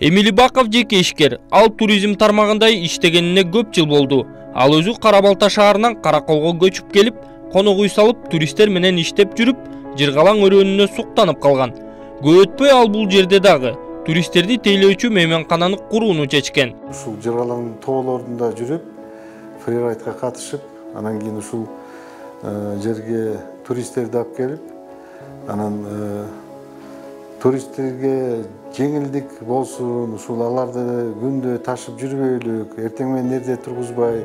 Эмили Баков жеке ишкер, ал туризм тармагында иштегенине көп жыл болду. Ал өзү Кара Балта шаарынан Караколго көчүп келип, конок үй салып, туристтер менен иштеп жүрүп, Жыргалаң өрөөнүнө суктанып калган. Көп өтпөй ал бул жерде дагы туристтерди тейлөөчү мейманкананы курууну чечкен. Ушул Жыргалаң тоолорунда жүрүп, фрирайдка катышып, анан кийин ушул жерге туристтерди алып келип, анан туристтерге жеңилдик болсун, ушул аларды күндө ташып жүрбөйлүк, эртең менен эрте тургузбай,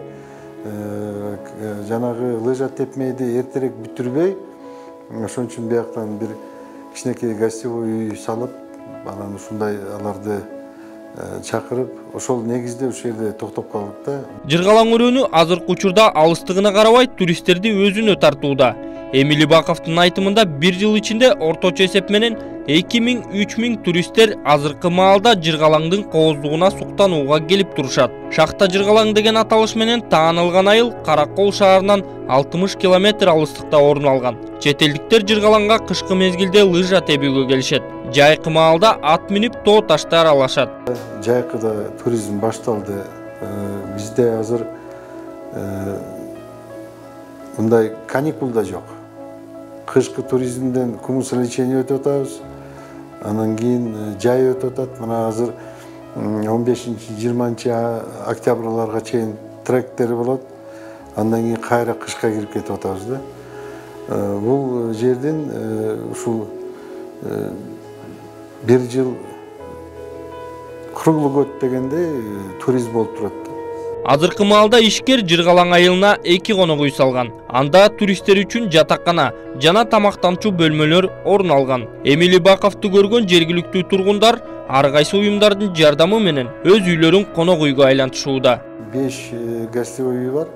жанагы лыжа тепмейди эртерээк бүтүрбөй, ошон үчүн бияктан бир кичинекей гостевой үй салып, анан ушундай аларды чакырып, ошол негизде ушул жерде токтоп калдык да. Жыргалаң өрөөнү азыркы учурда алыстыгына карабай туристтерди өзүнө тартууда. Эмили Баковдун айтымында бир жыл ичинде орточо эсеп менен 2000–3000 туристтер азыркы маалда Жыргалаңдын кооздугуна суктанууга келип турушат. Шахта Жыргалаң деген аталыш менен таанылган айыл Каракол шаарынан 60 километр алыстыкта орун алган. Чет элдиктер Жыргалаңга кышкы мезгилде лыжа тебүүгө келишет. Жайкы маалда ат минип тоо ташты аралашат. Жайкыда туризм башталды. Бизде азыр мындай каникул да жок. Кышкы туризмден кумус лечение өтүп атабыз. Анан кийин жай өтүп атат. Мына азыр 15–20 октябрларга чейин тректер болот. Андан кийин кайра кышка кирип кетип атабыз да. Бул жердин ушул бир жыл круглый год дегенде туризм болуп турат. Азыркы маалда ишкер Жыргалаң айылына 2 конок үй салган. Анда туристтер үчүн жатакана жана тамактанчу бөлмөлөр орун алган. Эмили Баковду көргөн жергиликтүү тургундар ар кайсы уюмдардын жардамы менен өз үйлөрүн конок үйгө айлантышууда. 5 гостевой үй бар.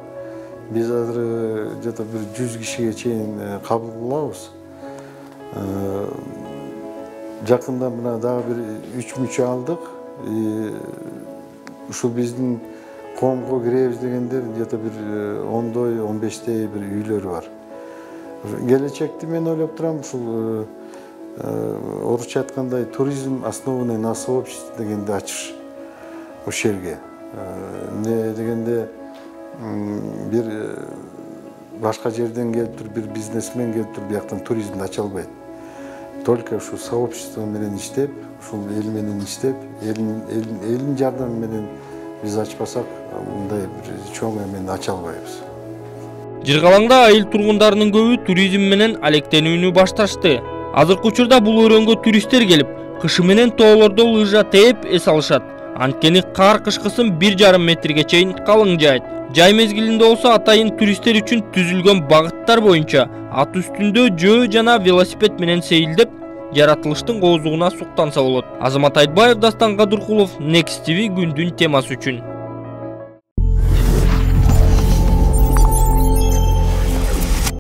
Биз азыр жата бир 100 кишиге чейин кабыл кылабыз. Жакында мына дагы бир 3 мүчө алдык. Ушул биздин комго киребиз дегендер где-то бир 10–15 бир үйлөр бар. Келечекти мен ойлоп турам, ушул орусча айткандай туризм основанный на сообществе дегенди ачыш ошол жерге. Эмне дегенде бир башка жерден келип туруп бир бизнесмен келип туруп бияктан туризмди ача албайт. Только ушул сообщество менен иштеп, ушул эл менен иштеп, элдин жардамы менен биз ачпасак, мындай бир чоң эмени ача албайбыз. Жыргалаңда айыл тургундарынын көбү туризм менен алектенүүнү башташты. Азыркы учурда бул өрөөнгө туристтер келип, кышы менен тоолордо лыжа тээп эс алышат. Анткени кар кышкысын 1,5 метрге чейин калың жаайт. Жай мезгилинде болсо атайын туристтер үчүн түзүлгөн багыттар боюнча ат үстүндө жөө жана велосипед менен сейилдеп, жаратылыштын кооздугуна суктанса болот. Азамат Айтбаев, Дастан Кадыркулов, Next TV күндүн темасы үчүн.